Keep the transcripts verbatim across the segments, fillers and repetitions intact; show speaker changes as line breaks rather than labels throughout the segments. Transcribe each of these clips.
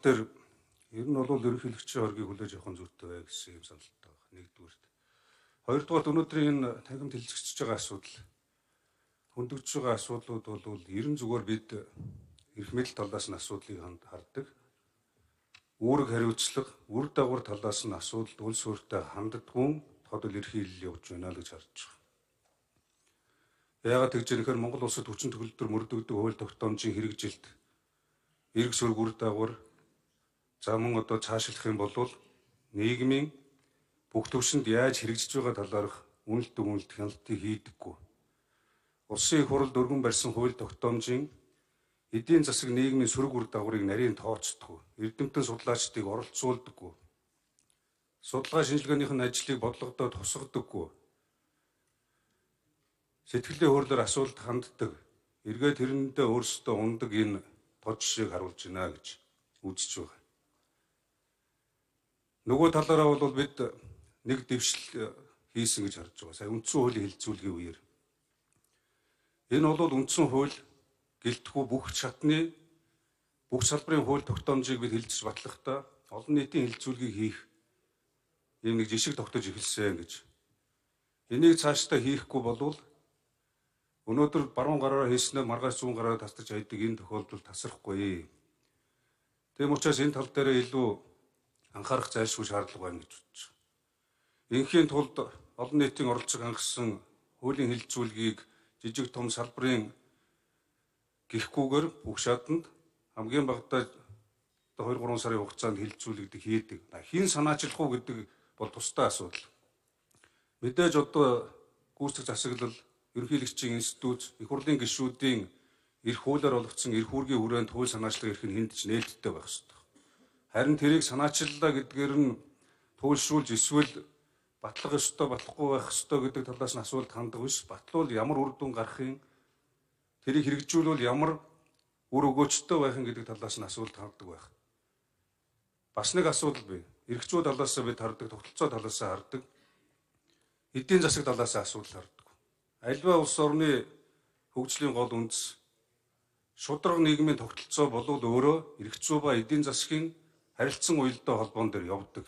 дээр ер нь бол ерөнхийлөгчийн оргийг хүлээж авах зүйтэй бай гэсэн юм саналтай байна. Нэгдүгээрт. Хоёрдугаар өнөөдрийн энэ танхимд хилцэгдэж байгаа асуудал, хөндөгдөж байгаа асуудлууд бол ерөн зүгээр бид эрх мэдэл талаас нь асуудлыг хардаг. Үүрэг хариуцлага, үр дагавар талаас нь асуудалд үл суурьтай ханддаггүй тодол эрхийлэл явж байна л гэж харж байгаа. Яагаад гэж нэхэр Монгол улсад хүчин төгөлдөр мөрдөгдөг хууль тогтоомжийн хэрэгжилт, эрг сүрг үр дагавар замун одоо цаашлах юм бол нийгмийн бүх төвшөнд яаж хэрэгжиж байгаа талаарх үнэлт дүгнэлт хяналтыг хийдэггүй. Улсын их хурлд өргөн барьсан хууль тогтоомжийн эдийн засаг нийгмийн сөрөг үр дагаврыг нарийн тооцдоггүй, эрдэмтэн судлаачдыг оролцуулдаггүй, судалгаа шинжилгээнийхэн ажлыг бодлогодоо тусгадаггүй, сэтгэлийн хуурлаар асуулт ханддаг, эргээд тэрэндээ өөрсдөө ундаг энэ гол жишээг харуулж байна гэж үзэж байгаа. Нөгөө талаараа бол бид нэг дэвшил хийсэн гэж харж байгаа. Сая үндсэн хуулийн хэлэлцүүлгийн үеэр. Энэ бол үндсэн хууль гэлтгүй бүх шатны бүх салбарын хууль тогтоомжийг бид хэлэлцэж батлахдаа олон нийтийн хэлэлцүүлгийг хийх ийм нэг жишг тогтож эхэлсэн гэж. Энийг цаашдаа хийхгүй болвол өнөөдөр баруун гараараа хийснээр маргааш зүүн гараараа тасдаж айдаг энэ тохиолдолд тасрахгүй. Тийм учраас энэ тал дээр илүү анхаарах зайлшгүй шаардлага байна гэж бодож байна. Инхийн тулд олон нийтийн оролцог хангасан хуулийн хэлэлцүүлгийг жижиг том салбарын гихгүйгээр бүх шатанд хамгийн багадаа хоёр гурван сарын хугацаанд хэлэлцүүлэгдэх хийдэг. Хин санаачлах уу гэдэг бол тусдаа асуудал. Мэдээж одоо гүйцэтгэх засаглал, ерөнхийлөгчийн институт, их хурлын гишүүдийн эрх хуулиар олгогдсон эрх үүргийн хүрээнд хууль санаачлах эрх нь хэнд ч нээлттэй байх ёстой. Харин тэрийг санаачлалаа гэдгээр нь туйлшруулж эсвэл батлах ёстой, батлахгүй байх ёстой гэдэг талаас нь асуулт ханддаг биш. Батлуул ямар үр дүн гарахын, тэрийг хэрэгжүүлвэл ямар үр өгөөжтэй байхын гэдэг талаас нь асуулт ханддаг байх. Бас нэг асуудал бий. Эрх зүй талаас нь бид хардаг, тогтолцоо талаас нь хардаг. Эдийн засаг талаас нь асуудал хардаг. Альва улс орны хөгжлийн гол үндэс шударга нийгмийн тогтолцоо болвол өөрөө эрх зүй ба эдийн засгийн харилцан уялдаа холбоон дээр явдаг.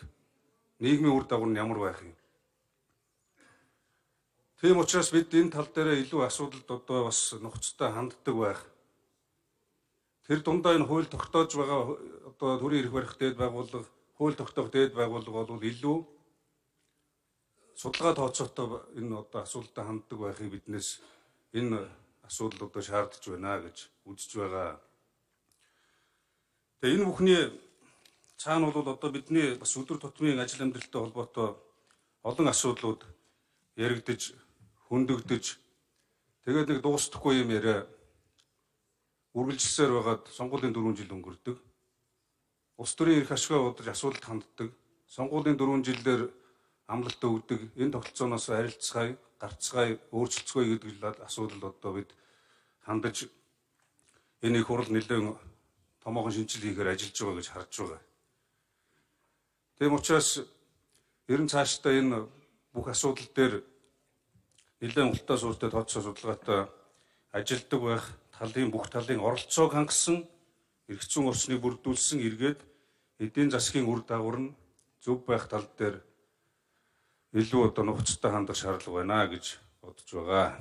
Нийгмийн үр дагавар нь ямар байх юм? Тийм учраас бид энэ тал дээр илүү асуудалд одоо бас нухацтай ханддаг байх. Тэр дундаа энэ хууль тогтоож байгаа одоо төрийн эрх барих дээд байгууллага, хууль тогтоох дээд байгууллага бол илүү судалгаа тооцоотой энэ одоо асуудалтай ханддаг байхыг биднээс энэ асуудал одоо шаардж байна гэж үзэж байгаа. Тэгээ энэ бүхний цаана бол одоо бидний бас өдөр тутмын ажил амьдралтай холбоотой олон асуудлууд яригдж, хөндөгдөж, тэгээд нэг дуустахгүй юм яриа үргэлжилсээр байгаад сонгуулийн дөрвөн жил өнгөрдөг. Улс төрийн эрх ашгаа удаж асуудалд ханддаг. Сонгуулийн дөрвөн жилээр амлалт өгдөг. Энэ тогтолцооноос арилцгаая, гарцгаая, өөрчлөлцгөөе гэдэг асуудал одоо бид хандаж энэ их хурл нэлээд томоохон шинжил хийхээр ажиллаж байгаа гэж харж байгаа. Тийм учраас ерөн цаашдаа энэ бүх асуудал дээр нэлээд ултаа суурьтай тооцоо судалгаатай ажилтдаг байх, талын бүх талын оролцоог хангасан, эрх зүйн орчныг бүрдүүлсэн эргээд эдийн засгийн үр дагавар нь зөв байх тал дээр илүү одоо нухацтай хандах шаардлага байна гэж бодож байгаа.